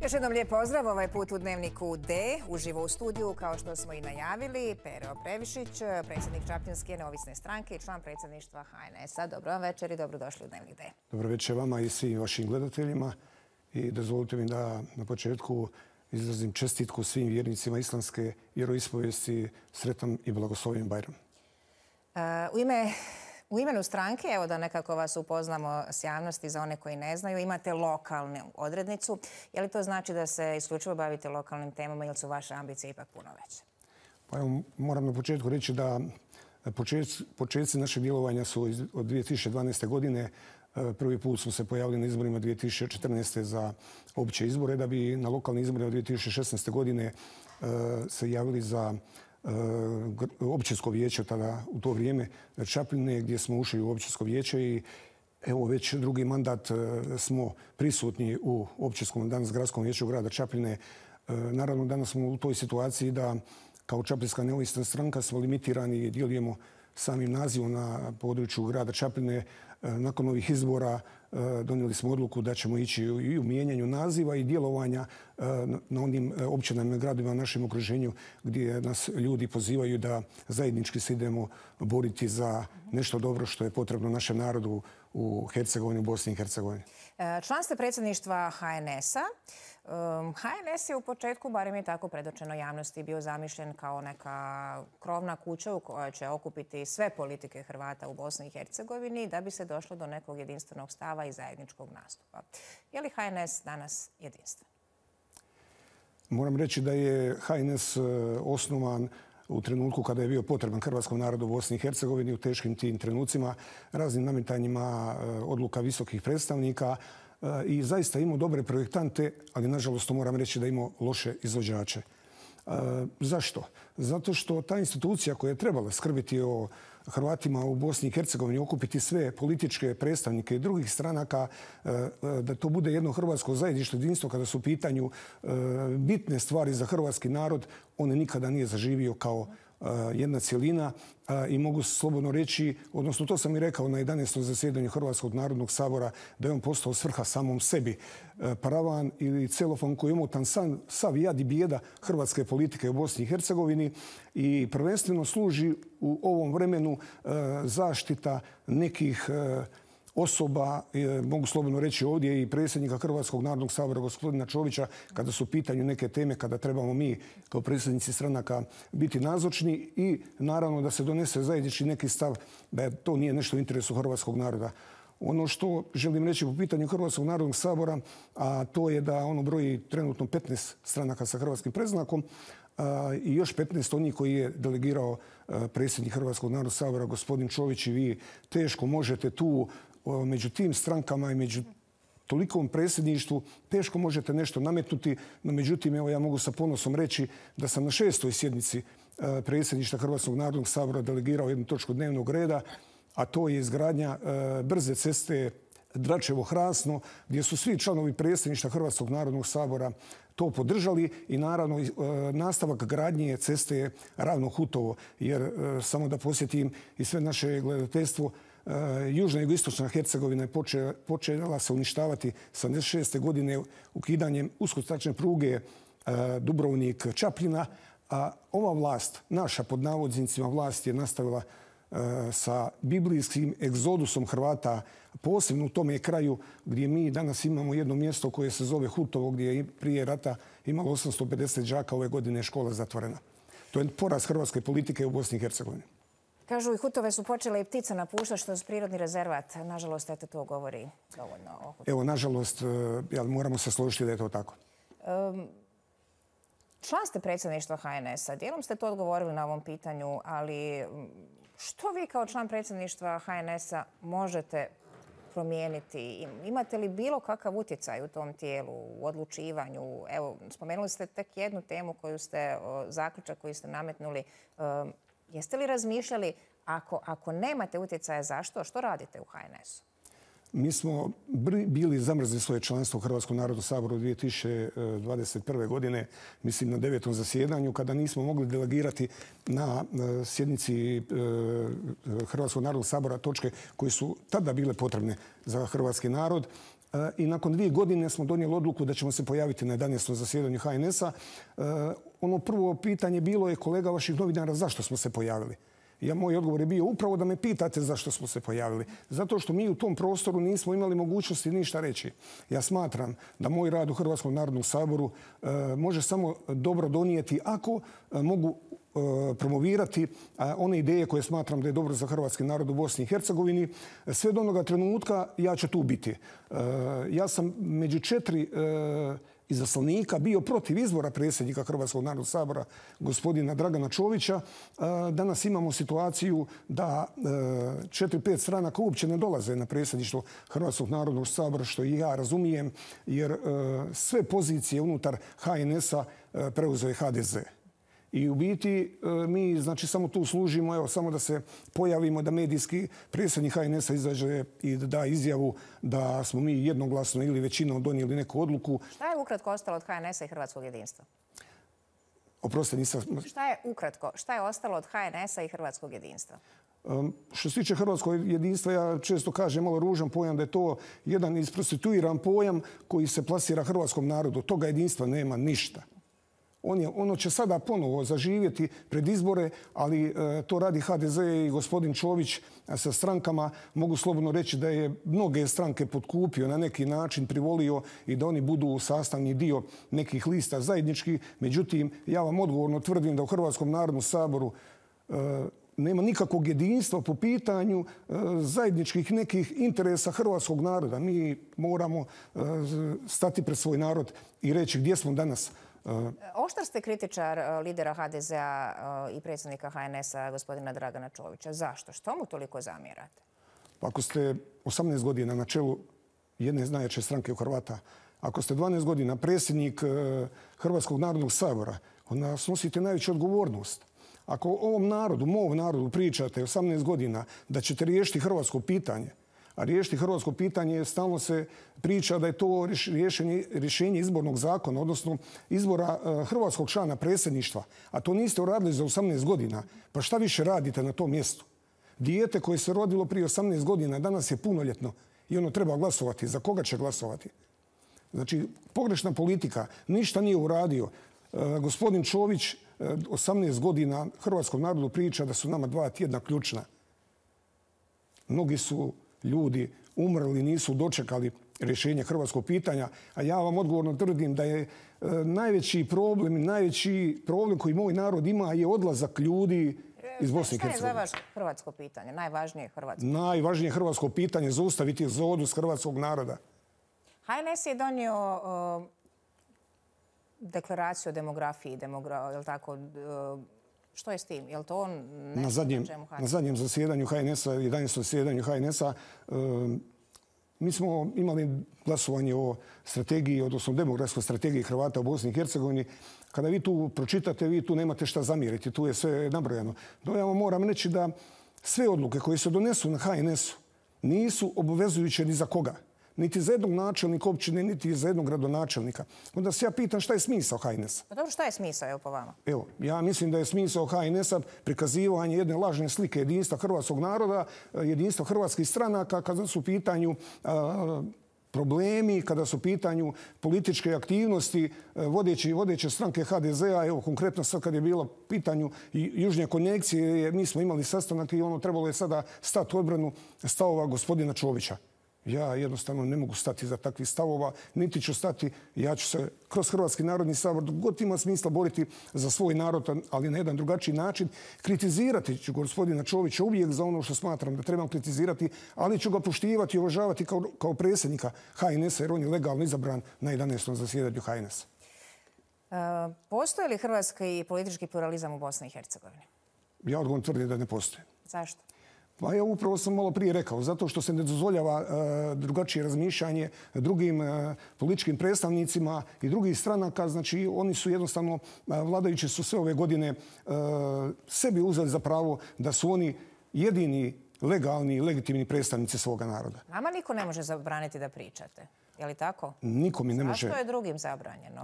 Još jednom lijep pozdrav, ovaj put u Dnevniku D, uživo u studiju, kao što smo i najavili, Pero Previšić, predsjednik Čapljinske neovisne stranke i član predsjedništva HNS-a. Dobro vam večer i dobrodošli u Dnevnik D. Dobro večer vama i svim vašim gledateljima. I dozvolite mi da na početku izrazim čestitku svim vjernicima islamske vjeroispovijesti, sretan i blagoslovljen Bajram. U imenu stranke, evo da nekako vas upoznamo s javnosti za one koji ne znaju, imate lokalnu odrednicu. Je li to znači da se isključivo bavite lokalnim temama ili su vaše ambicije ipak puno veće? Pa evo, moram na početku reći da početci našeg djelovanja su od 2012. godine. Prvi put smo se pojavili na izborima 2014. za opće izbore, da bi na lokalnim izborima 2016. godine se javili za općinsko vijeće tada u to vrijeme Čapljine, gdje smo ušli u općinsko vijeće i evo već drugi mandat smo prisutni u općinskom, danas gradskom vijeću grada Čapljine. Naravno, danas smo u toj situaciji da kao Čapljinska neovisna stranka smo limitirani i djelujemo samim nazivom na području grada Čapljine. Nakon ovih izbora donijeli smo odluku da ćemo ići i u mijenjanju naziva i djelovanja na onim općinama i gradovima u našem okruženju gdje nas ljudi pozivaju da zajednički se idemo boriti za nešto dobro što je potrebno našem narodu u Hercegovini, u Bosni i Hercegovini. Član ste predsjedništva HNS-a. HNS je u početku, barem je tako predočeno javnosti, bio zamišljen kao neka krovna kuća u kojoj će okupiti sve politike Hrvata u Bosni i Hercegovini da bi se došlo do nekog jedinstvenog stava i zajedničkog nastupa. Je li HNS danas jedinstven? Moram reći da je HNS osnovan u trenutku kada je bio potreban hrvatskom narodu u Bosni i Hercegovini, u teškim tim trenucima, raznim nametanjima odluka visokih predstavnika i zaista imao dobre projektante, ali nažalost to moram reći da imao loše izvođače. Zašto? Zato što ta institucija koja je trebala skrbiti o Hrvatima u Bosni i Hercegovini, okupiti sve političke predstavnike i drugih stranaka, da to bude jedno hrvatsko zajedništvo, jedinstvo kada su u pitanju bitne stvari za hrvatski narod, on nikada nije zaživio kao jedna cjelina i mogu slobodno reći, odnosno to sam i rekao na 11. zasjedanju Hrvatskog narodnog sabora, da je on postao svrha samom sebi. Paravan ili celofan koji je omotan sav jad i bijeda hrvatske politike u Bosni i Hercegovini i prvenstveno služi u ovom vremenu zaštita nekih osoba, mogu slobodno reći ovdje i predsjednika Hrvatskog narodnog sabora gospodina Čovića, kada su u pitanju neke teme, kada trebamo mi kao predsjednici stranaka biti nazočni i naravno da se donese zajednički neki stav da to nije nešto u interesu hrvatskog naroda. Ono što želim reći po pitanju Hrvatskog narodnog sabora, a to je da ono broji trenutno 15 stranaka sa hrvatskim predznakom i još 15 onih koji je delegirao predsjednik Hrvatskog narodnog sabora gospodin Čović i vi teško možete tu među tim strankama i među tolikom predsjedništvu teško možete nešto nametnuti, no međutim evo ja mogu sa ponosom reći da sam na 6. sjednici predsjedništva Hrvatskog narodnog sabora delegirao jednu točku dnevnog reda, a to je izgradnja brze ceste Dračevo-Hrasno, gdje su svi članovi predsjedništva Hrvatskog narodnog sabora to podržali i naravno nastavak gradnje ceste Ravno-Hutovo, jer samo da posjetim i sve naše gledateljstvo, južna i jugoistočna Hercegovina je počela se uništavati 76. godine ukidanjem uskotračne pruge Dubrovnik-Čapljina, a ova vlast, naša pod navodnicima vlast, je nastavila sa biblijskim egzodusom Hrvata, posebno u tome kraju gdje mi danas imamo jedno mjesto koje se zove Hutovo, gdje je prije rata imalo 850 đaka, ove godine je škola zatvorena. To je poraz hrvatske politike u Bosni i Hercegovini. Kažu i Hutove su počele i ptice napuštati, što je prirodni rezervat. Nažalost, eto, to govori dovoljno o Hutovu. Evo, nažalost, moramo se složiti da je to tako. Član ste predsjedništva HNS-a. Dijelom ste to odgovorili na ovom pitanju, ali što vi kao član predsjedništva HNS-a možete promijeniti? Imate li bilo kakav utjecaj u tom tijelu, u odlučivanju? Evo, spomenuli ste tek jednu temu zaključak koji ste nametnuli. Jeste li razmišljali, ako nemate utjecaja, zašto? Što radite u HNS-u? Mi smo bili zamrzli svoje članstvo u Hrvatskom narodnom saboru 2021. godine, mislim na 9. zasjedanju, kada nismo mogli delegirati na sjednici Hrvatskog narodnog sabora točke koje su tada bile potrebne za hrvatski narod. i nakon 2 godine smo donijeli odluku da ćemo se pojaviti na 11. zasjedanju HNS-a. Ono prvo pitanje bilo je kolega vaših novinara zašto smo se pojavili. Moj odgovor je bio upravo da me pitate zašto smo se pojavili. Zato što mi u tom prostoru nismo imali mogućnosti ništa reći. Ja smatram da moj rad u Hrvatskom narodnom saboru može samo dobro donijeti ako mogu promovirati one ideje koje smatram da je dobro za hrvatski narod u Bosni i Hercegovini. Sve do onoga trenutka ja ću tu biti. Ja sam među 4 izaslanika bio protiv izbora predsjednika Hrvatskog narodnog sabora gospodina Dragana Čovića. Danas imamo situaciju da 4-5 stranaka uopće ne dolaze na predsjedništvo Hrvatskog narodnog sabora, što i ja razumijem, jer sve pozicije unutar HNS-a preuzeo je HDZ. I u biti mi znači samo tu služimo, evo samo da se pojavimo, da medijski predsjednik HNS-a izađe i da izjavu da smo mi jednoglasno ili većinom donijeli neku odluku. Šta je ukratko ostalo od HNS-a i Hrvatskog jedinstva? Oprostite, nisam... Šta je ukratko? Šta je ostalo od HNS-a i Hrvatskog jedinstva? Što se tiče hrvatskog jedinstva, ja često kažem malo ružan pojam da je to jedan isprostituiran pojam koji se plasira hrvatskom narodu. Toga jedinstva nema ništa. Ono će sada ponovo zaživjeti pred izbore, ali to radi HDZ i gospodin Čović sa strankama. Mogu slobodno reći da je mnoge stranke potkupio, na neki način privolio i da oni budu sastavni dio nekih lista zajedničkih. Međutim, ja vam odgovorno tvrdim da u Hrvatskom narodnom saboru nema nikakvog jedinstva po pitanju zajedničkih nekih interesa hrvatskog naroda. Mi moramo stati pred svoj narod i reći gdje smo danas. Oštar ste kritičar lidera HDZ-a i predsjednika HNS-a, gospodina Dragana Čovića. Zašto? Što mu toliko zamjerate? Pa ako ste 18 godina na čelu jedne najjače stranke u Hrvata, ako ste 12 godina predsjednik Hrvatskog narodnog sabora, onda snosite najveću odgovornost. Ako ovom narodu, mom narodu pričate 18 godina da ćete riješiti hrvatsko pitanje, a riješiti hrvatsko pitanje stalno se priča da je to rješenje izbornog zakona, odnosno izbora hrvatskog člana predsjedništva, a to niste uradili za 18 godina. Pa šta više radite na tom mjestu? Dijete koje se rodilo prije 18 godina danas je punoljetno i ono treba glasovati. Za koga će glasovati? Znači, pogrešna politika, ništa nije uradio. Gospodin Čović 18 godina hrvatskom narodu priča da su nama 2 tjedna ključna. Mnogi su ljudi umrli, nisu dočekali rješenje hrvatskog pitanja, a ja vam odgovorno tvrdim da je najveći problem koji moj narod ima je odlazak ljudi iz Bosne i Hercegovine. Šta je za vas hrvatsko pitanje? Najvažnije hrvatsko? Najvažnije hrvatsko pitanje je zaustaviti egzodus hrvatskog naroda. HNS je donio deklaraciju o demografiji, je tako? Što je s tim? Je li to on na zadnjem zasjedanju HNS-a, 11. zasjedanju HNS-a, mi smo imali glasovanje o strategiji, odnosno demografskoj strategiji Hrvata u Bosni i Hercegovini. Kada vi tu pročitate, vi tu nemate šta zamjeriti. Tu je sve nabrojano. No ja vam moram reći da sve odluke koje se donesu na HNS-u nisu obvezujuće ni za koga. Niti za jednog načelnika općine, niti za jednog gradonačelnika. Onda se ja pitam šta je smisao HNS-a. Pa dobro, šta je smisao, evo po vama? Evo, ja mislim da je smisao HNS-a prikazivanje jedne lažne slike jedinstva hrvatskog naroda, jedinstva hrvatskih stranaka kada su u pitanju problemi, kada su u pitanju političke aktivnosti vodeće stranke HDZ-a. Evo, konkretno sad kad je bilo pitanju južnje konekcije, mi smo imali sastanak i ono trebalo je sada stati u odbranu stavova gospodina Čovića. Ja jednostavno ne mogu stati za takvih stavova, niti ću stati. Ja ću se kroz Hrvatski narodni sabor, dok god ima smisla, boriti za svoj narod, ali na jedan drugačiji način. Kritizirati ću gospodina Čovića uvijek za ono što smatram da trebam kritizirati, ali ću ga poštivati i uvažavati kao predsjednika HNS-a, jer on je legalno izabran na 11. zasjedanju HNS-a. Postoji li hrvatski politički pluralizam u Bosni i Hercegovini? Ja odgovorno tvrdim da ne postoji. Zašto? Pa ja upravo sam malo prije rekao, zato što se ne dozvoljava drugačije razmišljanje drugim političkim predstavnicima i drugih stranaka. Znači, oni su jednostavno, vladajući su sve ove godine sebi uzeli za pravo da su oni jedini legalni i legitimni predstavnici svoga naroda. Nama niko ne može zabraniti da pričate. Je li tako? Niko mi ne može. Zašto je drugim zabranjeno?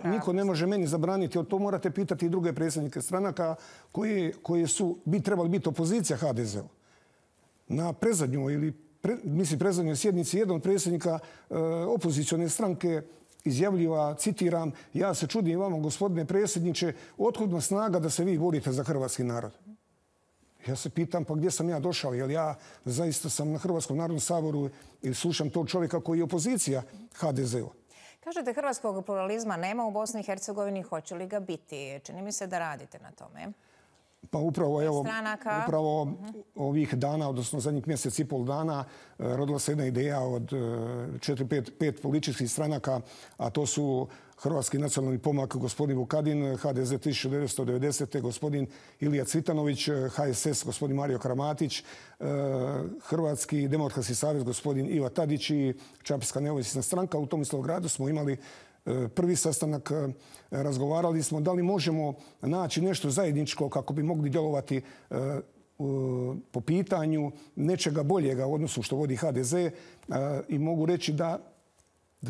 Niko ne može meni zabraniti. To morate pitati i druge predsjednike stranaka koji bi trebali biti opozicija HDZ-u. Na predzadnjoj ili predzadnjoj sjednici jedan od predsjednika opozicione stranke izjavljiva, citiram, ja se čudim vama, gospodine predsjedniče, otkud vam snaga da se vi borite za hrvatski narod? Ja se pitam, pa gdje sam ja došao? Jer ja zaista sam na Hrvatskom narodnom saboru i slušam tog čovjeka koji je opozicija HDZ-u. Kažete, hrvatskog pluralizma nema u Bosni i Hercegovini, hoće li ga biti? Čini mi se da radite na tome. Pa upravo ovih dana, odnosno zadnjih mjesec i pol dana, rodila se jedna ideja od 4-5 političkih stranaka, a to su Hrvatski nacionalni pomak gospodin Vukadin, HDZ 1990. gospodin Ilija Cvitanović, HSS gospodin Mario Kramatić, Hrvatski demokratski savez gospodin Iva Tadić i Čapljska neovisna stranka. U Tomislavgradu smo imali prvi sastanak, razgovarali smo da li možemo naći nešto zajedničko kako bi mogli djelovati po pitanju nečega boljega u odnosu što vodi HDZ i mogu reći da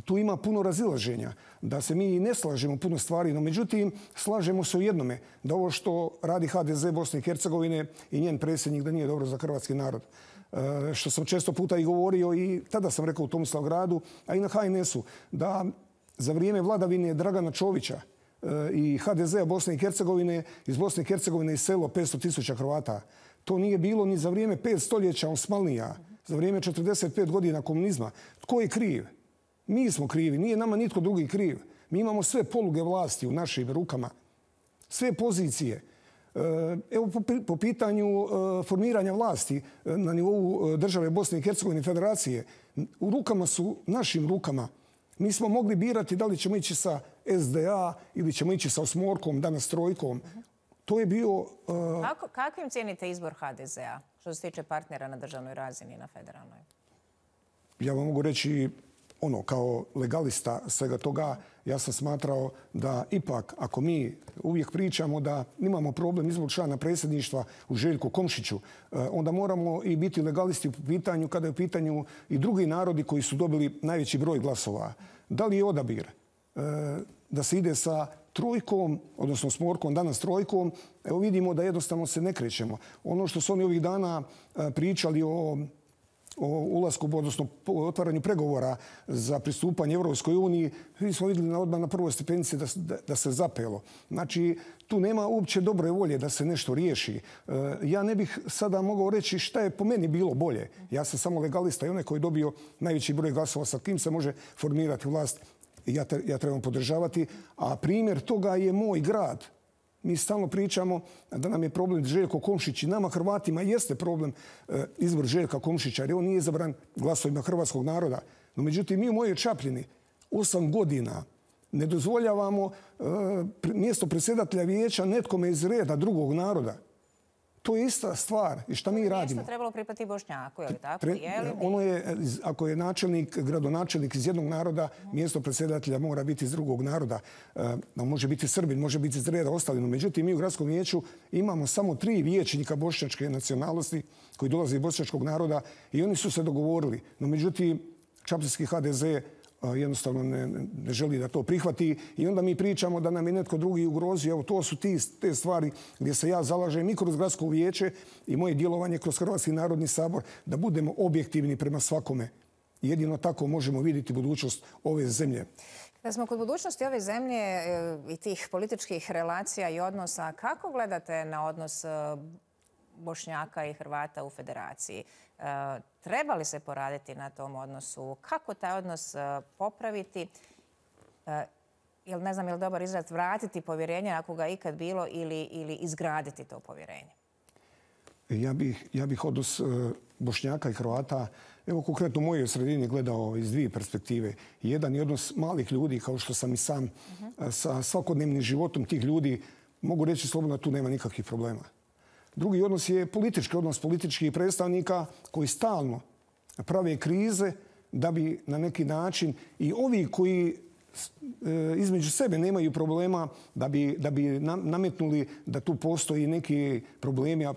tu ima puno razilaženja, da se mi ne slažemo puno stvari, no međutim slažemo se u jednome, da ovo što radi HDZ Bosne i Hercegovine i njen predsjednik da nije dobro za hrvatski narod. Što sam često puta i govorio i tada sam rekao u Tomislavgradu, a i na HNS-u, da za vrijeme vladavine Dragana Čovića i HDZ-a Bosne i Hercegovine iz Bosne i Hercegovine iselo 500.000 Hrvata. To nije bilo ni za vrijeme 5 stoljeća Osmanlija, za vrijeme 45 godina komunizma. Tko je kriv? Mi smo krivi, nije nama nitko drugi kriv. Mi imamo sve poluge vlasti u našim rukama, sve pozicije. Evo po pitanju formiranja vlasti na nivou države Bosne i Hercegovine i Federacije, u rukama su, našim rukama. Mi smo mogli birati da li ćemo ići sa SDA ili ćemo ići sa osmorkom, danas trojkom. To je bio... Kakvim cijenite izbor HDZ-a što se tiče partnera na državnoj razini i na federalnoj? Ja vam mogu reći, kao legalista svega toga, ja sam smatrao da ipak, ako mi uvijek pričamo da imamo problem izbor člana predsjedništva u Željku Komšiću, onda moramo i biti legalisti u pitanju kada je u pitanju i drugi narodi koji su dobili najveći broj glasova. Da li je odabir da se ide sa trojkom, odnosno smorkom, danas trojkom, evo vidimo da jednostavno se ne krećemo. Ono što su oni ovih dana pričali o ulasku, odnosno otvaranju pregovora za pristupanje Europskoj uniji, mi smo vidjeli odmah na prvoj stepenici da se zapelo. Znači, tu nema uopće dobre volje da se nešto riješi. Ja ne bih sada mogao reći šta je po meni bilo bolje. Ja sam samo legalista i onaj koji je dobio najveći broj glasova sa kim se može formirati vlast. Ja trebam podržavati. A primjer toga je moj grad. Mi stalno pričamo da nam je problem Željko Komšić i nama Hrvatima jeste problem izbor Željka Komšića jer on nije izabran glasovima hrvatskog naroda. No međutim, mi u mojoj Čapljini 8 godina ne dozvoljavamo mjesto predsjedatelja vijeća netkome iz reda drugog naroda. To je ista stvar. I šta mi radimo? Mjesto trebalo pripati Bošnjaku, je li tako? Ono je, ako je načelnik, gradonačelnik iz jednog naroda, mjesto predsjedatelja mora biti iz drugog naroda. Može biti Srbin, može biti iz reda ostalino. Međutim, mi u gradskom vijeću imamo samo 3 vijećnika bošnjačke nacionalnosti koji dolaze iz bošnjačkog naroda i oni su se dogovorili. No međutim, čapljinski HDZ jednostavno ne želi da to prihvati i onda mi pričamo da nam je netko drugi ugrozio. Evo, to su te stvari gdje se ja zalažem i kroz gradsko vijeće i moje djelovanje kroz Hrvatski narodni sabor da budemo objektivni prema svakome. Jedino tako možemo vidjeti budućnost ove zemlje. Da smo kod budućnosti ove zemlje i tih političkih relacija i odnosa, kako gledate na odnos Bošnjaka i Hrvata u federaciji? Treba li se poraditi na tom odnosu? Kako taj odnos popraviti? Ne znam je li dobar izraz vratiti povjerenje ako ga ikad bilo ili izgraditi to povjerenje? Ja bih odnos Bošnjaka i Hrvata, evo konkretno u mojoj sredini gledao iz 2 perspektive. Jedan je odnos malih ljudi, kao što sam i sam, sa svakodnevnim životom tih ljudi. Mogu reći slobodno da tu nema nikakvih problema. Drugi odnos je politički odnos političkih predstavnika koji stalno prave krize da bi na neki način i ovi koji između sebe nemaju problema da bi nametnuli da tu postoji neki problemi, a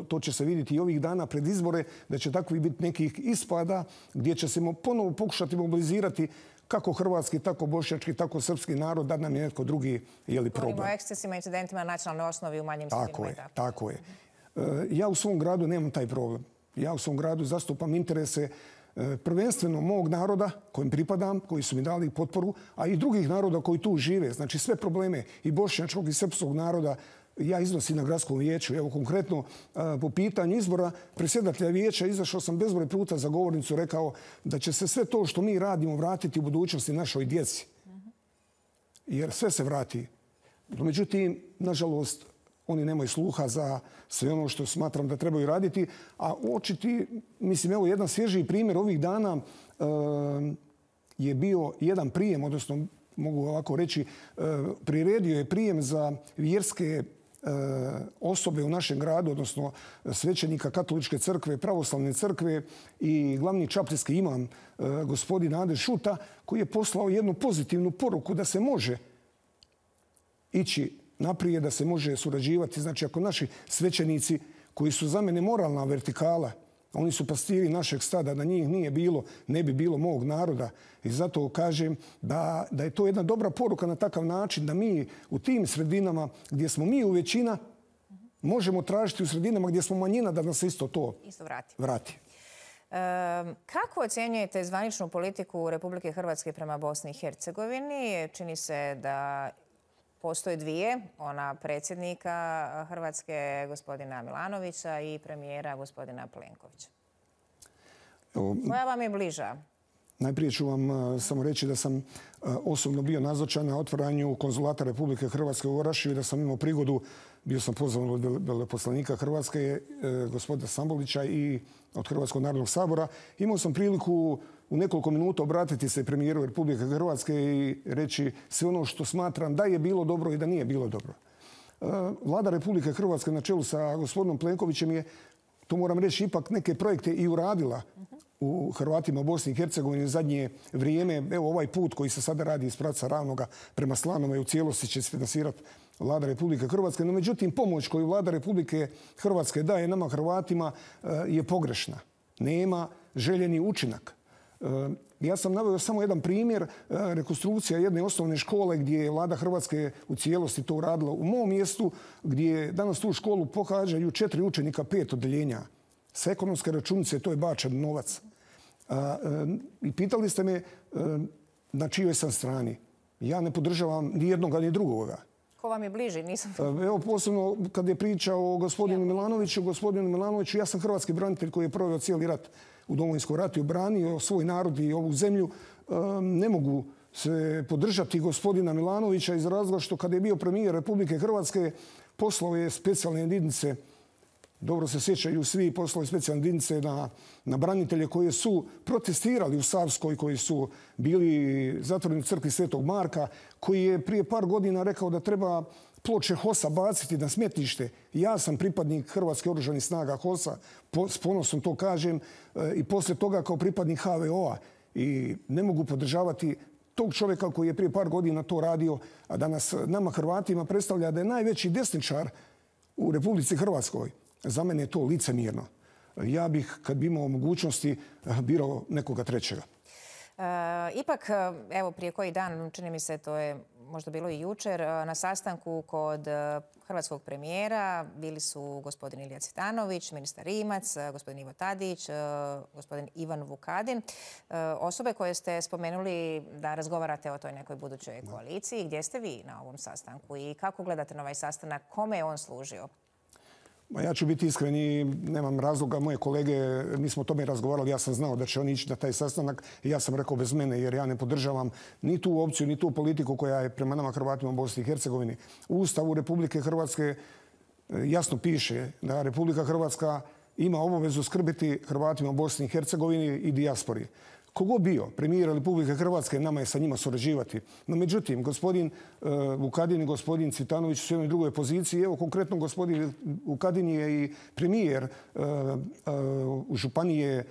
to će se vidjeti i ovih dana pred izbore, da će takvi biti nekih ispada gdje će se ponovo pokušati mobilizirati kako hrvatski, tako bošnjački, tako srpski narod, da nam je netko drugi problem. Govorimo o ekscesima, incidentima na nacionalnoj osnovi u manjim sredinama. Tako je. Ja u svom gradu nemam taj problem. Ja u svom gradu zastupam interese prvenstveno mog naroda kojem pripadam, koji su mi dali potporu, a i drugih naroda koji tu žive. Znači sve probleme i bošnjačkog i srpskog naroda ja iznosim na gradskom vijeću. Evo konkretno po pitanju izbora predsjedatelja vijeća izašao sam bezbroj puta za govornicu, rekao da će se sve to što mi radimo vratiti u budućnosti našoj djeci. Jer sve se vrati. Međutim, nažalost, oni nemaju sluha za sve ono što smatram da trebaju raditi. A očiti, mislim, evo jedan svježiji primjer ovih dana je bio jedan prijem, odnosno mogu ovako reći, priredio je prijem za vjerske osobe u našem gradu, odnosno svećenika Katoličke crkve, Pravoslavne crkve i glavni čapljski imam gospodin Ade Šuta, koji je poslao jednu pozitivnu poruku da se može ići naprijed, da se može surađivati. Znači, ako naši svećenici, koji su za mene moralna vertikala, oni su pastiri našeg stada, da njih nije bilo, ne bi bilo mog naroda. I zato kažem da je to jedna dobra poruka na takav način da mi u tim sredinama gdje smo mi u većina možemo tražiti u sredinama gdje smo manjina da nas isto to vrati. Kako ocjenjujete zvaničnu politiku Republike Hrvatske prema Bosni i Hercegovini? Čini se da postoje dvije, ona predsjednika Hrvatske gospodina Milanovića i premijera gospodina Plenkovića. Koja vam je bliža? Najprije ću vam samo reći da sam osobno bio nazočan na otvaranju konzulata Republike Hrvatske u Orašju i da sam imao prigodu, bio sam pozvan od veleposlanika Hrvatske, gospodina Stambolića i od Hrvatskog narodnog sabora. Imao sam priliku u nekoliko minuta obratiti se premijeru Republike Hrvatske i reći sve ono što smatram da je bilo dobro i da nije bilo dobro. Vlada Republike Hrvatske na čelu sa gospodinom Plenkovićem je, to moram reći, ipak neke projekte i uradila u Hrvatima u Bosni i Hercegovini u zadnje vrijeme. Evo ovaj put koji se sada radi iz pravca Ravnoga prema Slanome u cijelosti će se finansirati Vlada Republike Hrvatske. No, međutim, pomoć koju Vlada Republike Hrvatske daje nama Hrvatima je pogrešna. Nema željeni učinak. Ja sam naveo samo jedan primjer, rekonstrukcija jedne osnovne škole gdje je Vlada Hrvatske u cijelosti to uradila u mom mjestu, gdje danas tu školu pohađaju 4 učenika 5 odeljenja. Sa ekonomske računice to je bačen novac. I pitali ste me na čijoj sam strani. Ja ne podržavam ni jednoga ni drugoga. Ko vam je bliži? Nisam... Evo posebno kad je pričao o gospodinu Milanoviću, ja sam hrvatski branitelj koji je proveo cijeli rat u Domovinskom ratu i obranio svoj narod i ovu zemlju. Ne mogu se podržati gospodina Milanovića iz razloga što kada je bio premijer Republike Hrvatske poslao je specijalne jedinice, dobro se sjećaju svi, poslao je specijalne jedinice na branitelje koji su protestirali u Savskoj, koji su bili zatvoreni u crkvi Svetog Marka, koji je prije par godina rekao da treba ploče HOS-a baciti na smetlište. Ja sam pripadnik Hrvatske oružanih snaga HOS-a, s ponosom to kažem, i poslije toga kao pripadnik HVO-a. I ne mogu podržavati tog čovjeka koji je prije par godina to radio, a danas nama Hrvatima predstavlja da je najveći desničar u Republici Hrvatskoj. Za mene je to licemjerno. Ja bih, kad bi imao mogućnosti, birao nekoga trećega. Ipak, evo prije koji dan, čini mi se, to je možda bilo i jučer, na sastanku kod hrvatskog premijera bili su gospodin Ilija Cvitanović, ministar Rimac, gospodin Ivo Tadić, gospodin Ivan Vukadin. Osobe koje ste spomenuli da razgovarate o toj nekoj budućoj koaliciji. Gdje ste vi na ovom sastanku i kako gledate na ovaj sastanak? Kome je on služio? Ja ću biti iskren i nemam razloga. Moje kolege, mi smo o tome razgovarali, ja sam znao da će oni ići na taj sastanak i ja sam rekao bez mene jer ja ne podržavam ni tu opciju, ni tu politiku koja je prema nama Hrvatima u Bosni i Hercegovini. U Ustavu Republike Hrvatske jasno piše da Republika Hrvatska ima obavezu skrbiti Hrvatima u Bosni i Hercegovini i dijaspori. Kogo bio premijer Republike Hrvatske, nama je sa njima surađivati. No, međutim, gospodin Vukadin i gospodin Cvitanović su u jednoj drugoj poziciji. Evo, konkretno, gospodin Vukadin je i premijer u županije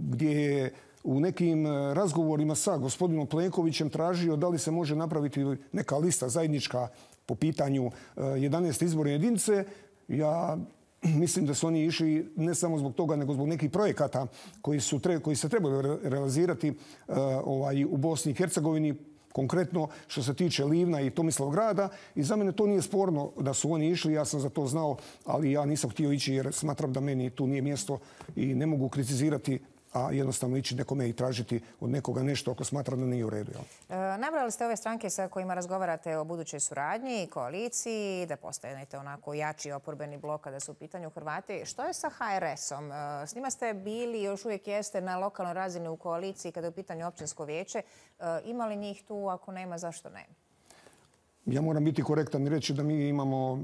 gdje je u nekim razgovorima sa gospodinom Plenkovićem tražio da li se može napraviti neka lista zajednička po pitanju 11. izborne jedinice. Ja mislim da su oni išli ne samo zbog toga, nego zbog nekih projekata koji se trebaju realizirati u Bosni i Hercegovini. konkretno što se tiče Livna i Tomislavgrada. I za mene to nije sporno da su oni išli, ja sam za to znao, ali ja nisam htio ići jer smatram da meni tu nije mjesto i ne mogu kritizirati, a jednostavno ići nekome i tražiti od nekoga nešto ako smatram da nije u redu. Nabrali ste ove stranke sa kojima razgovarate o budućoj suradnji i koaliciji, da postanete onako jači oporbeni blok kada su u pitanju Hrvati. Što je sa HRS-om? S njima ste bili, još uvijek jeste na lokalnoj razini u koaliciji kada je u pitanju općinsko vijeće. Ima li njih tu? Ako nema, zašto ne? Ja moram biti korektan i reći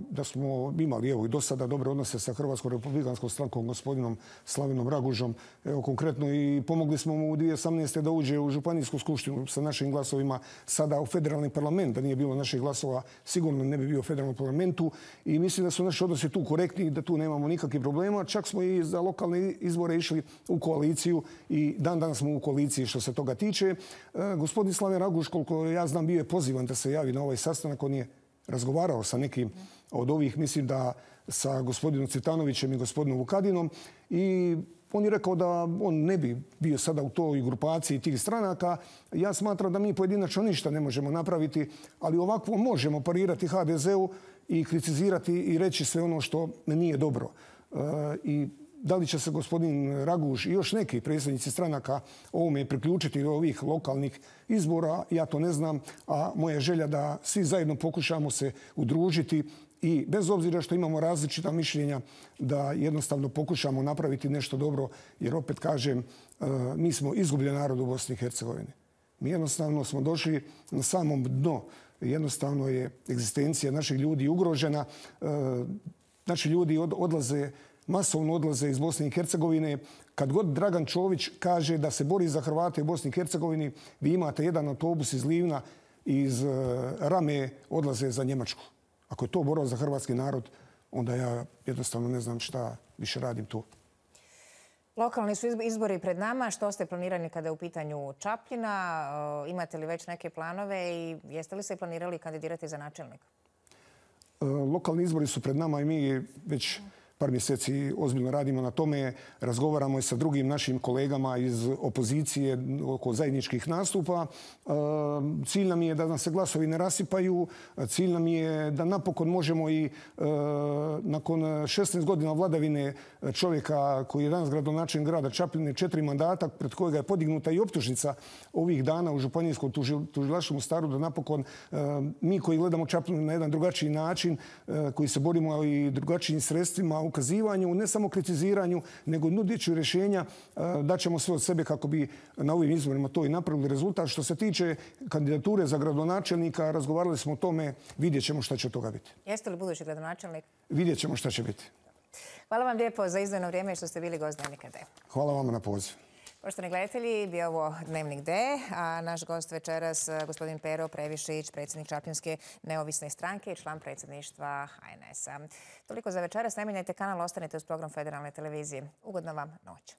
da smo imali i do sada dobre odnose sa Hrvatskom republikanskom strankom, gospodinom Slavenom Ragužom. Evo konkretno i pomogli smo mu u 2018. da uđe u županijsku skupštinu sa našim glasovima, sada u federalni parlament. Da nije bilo naših glasova, sigurno ne bi bio u federalnom parlamentu. I mislim da su naši odnosi tu korektni i da tu nemamo nikakvih problema. Čak smo i za lokalne izbore išli u koaliciju i dan danas smo u koaliciji što se toga tiče. Gospodin Slaven Raguž, koliko ja znam, bio je pozivan da se javi na ovaj sastanak. On je razgovarao sa nekim od ovih, mislim da sa gospodinom Cvitanovićem i gospodinom Vukadinom, i on je rekao da on ne bi bio sada u toj grupaciji tih stranaka. Ja smatram da mi pojedinačno ništa ne možemo napraviti, ali ovako možemo parirati HDZ-u i kritizirati i reći sve ono što nije dobro. I da li će se gospodin Raguž i još neki predsjednici stranaka ovome priključiti do ovih lokalnih izbora, ja to ne znam, a moja je želja da svi zajedno pokušamo se udružiti i bez obzira što imamo različita mišljenja, da jednostavno pokušamo napraviti nešto dobro, jer opet kažem, mi smo izgubljen narod u Bosni i Hercegovini. Mi jednostavno smo došli na samom dno. Jednostavno je egzistencija naših ljudi ugrožena. Naši ljudi masovno odlaze iz Bosne i Hercegovine. Kad god Dragan Čović kaže da se bori za Hrvate u Bosni i Hercegovini, vi imate jedan autobus iz Livna i iz Rame odlaze za Njemačku. Ako je to borba za hrvatski narod, onda ja jednostavno ne znam šta više radim tu. Lokalni su izbori pred nama. Što ste planirali kada je u pitanju Čapljina? Imate li već neke planove i jeste li se planirali kandidirati za načelnika? Lokalni izbori su pred nama i mi već par mjeseci ozbiljno radimo na tome, razgovaramo i sa drugim našim kolegama iz opozicije oko zajedničkih nastupa. Cilj nam je da nam se glasovi ne rasipaju, cilj nam je da napokon možemo i nakon 16 godina vladavine čovjeka koji je danas gradonačelnik grada Čapljine, 4 mandata, pred kojega je podignuta i optužnica ovih dana u županijskom tužilaštvu u Mostaru, da napokon mi koji gledamo Čapljinu na jedan drugačiji način, koji se borimo i drugačijim sredstvima, ukazivanju, ne samo kritiziranju, nego nudeći rješenja, daćemo sve od sebe kako bi na ovim izborima to i napravili rezultat. Što se tiče kandidature za gradonačelnika, razgovarali smo o tome, vidjet ćemo šta će od toga biti. Jeste li budući gradonačelnik? Vidjet ćemo šta će biti. Hvala vam lijepo za izdvojeno vrijeme i što ste bili gost Dnevnika D. Hvala vama na pozivu. Poštovani gledatelji, bio ovo Dnevnik D, a naš gost večeras gospodin Pero Previšić, predsjednik Čapljinske neovisne stranke i član predsjedništva HNS-a. Toliko za večeras. Ne mijenjajte kanal, ostanite uz program Federalne televizije. Ugodna vam noć.